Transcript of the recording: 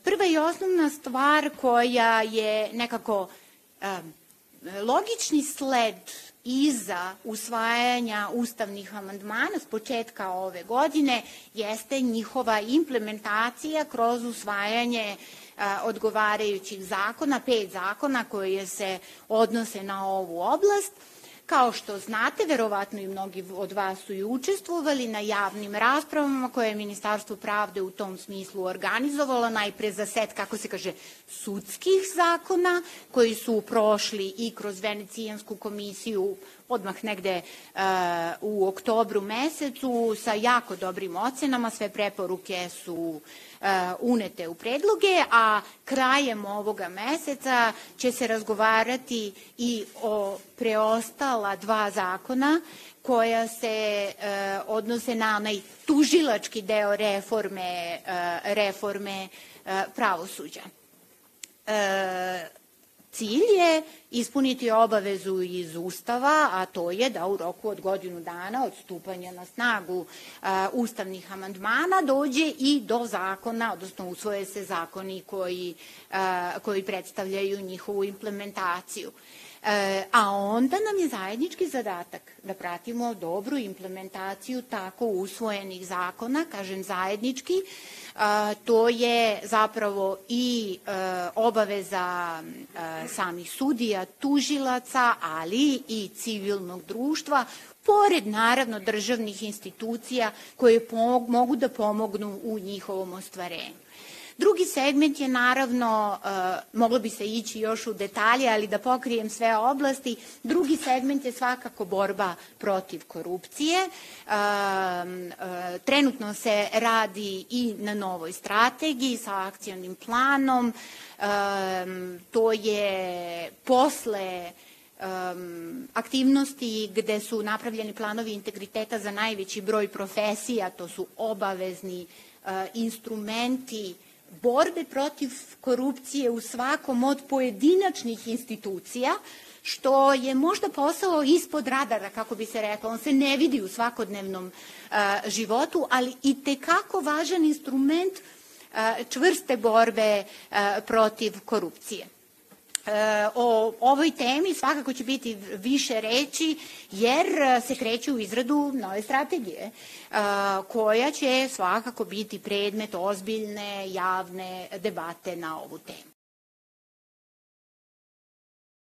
Prva i osnovna stvar koja je nekako logični sled iza usvajanja ustavnih amandmana s početka ove godine jeste njihova implementacija kroz usvajanje odgovarajućih zakona, 5 zakona koje se odnose na ovu oblast. Kao što znate, verovatno i mnogi od vas su i učestvovali na javnim raspravama koje je Ministarstvo pravde u tom smislu organizovalo, najpre za set, kako se kaže, sudskih zakona koji su prošli i kroz Venecijansku komisiju odmah negde u oktobru mesecu sa jako dobrim ocenama, sve preporuke su unete u predloge, a krajem ovoga meseca će se razgovarati i o preostala 2 zakona koja se odnose na onaj tužilački deo reforme pravosuđa. Cilj je ispuniti obavezu iz Ustava, a to je da u roku od godinu dana od stupanja na snagu ustavnih amandmana dođe i do zakona, odnosno usvoje se zakoni koji predstavljaju njihovu implementaciju. A onda nam je zajednički zadatak da pratimo dobru implementaciju tako usvojenih zakona, kažem zajednički, to je zapravo i obaveza samih sudija, tužilaca, ali i civilnog društva, pored naravno državnih institucija koje mogu da pomognu u njihovom ostvarenju. Drugi segment je naravno, moglo bi se ići još u detalje, ali da pokrijem sve oblasti, drugi segment je svakako borba protiv korupcije. Trenutno se radi i na novoj strategiji sa akcionim planom. To je posle aktivnosti gde su napravljeni planovi integriteta za najveći broj profesija, to su obavezni instrumenti borbe protiv korupcije u svakom od pojedinačnih institucija, što je možda posao ispod radara, kako bi se reklo. On se ne vidi u svakodnevnom životu, ali i tekako važan instrument čvrste borbe protiv korupcije. O ovoj temi svakako će biti više reči jer se kreće u izradu nove strategije koja će svakako biti predmet ozbiljne javne debate na ovu temu.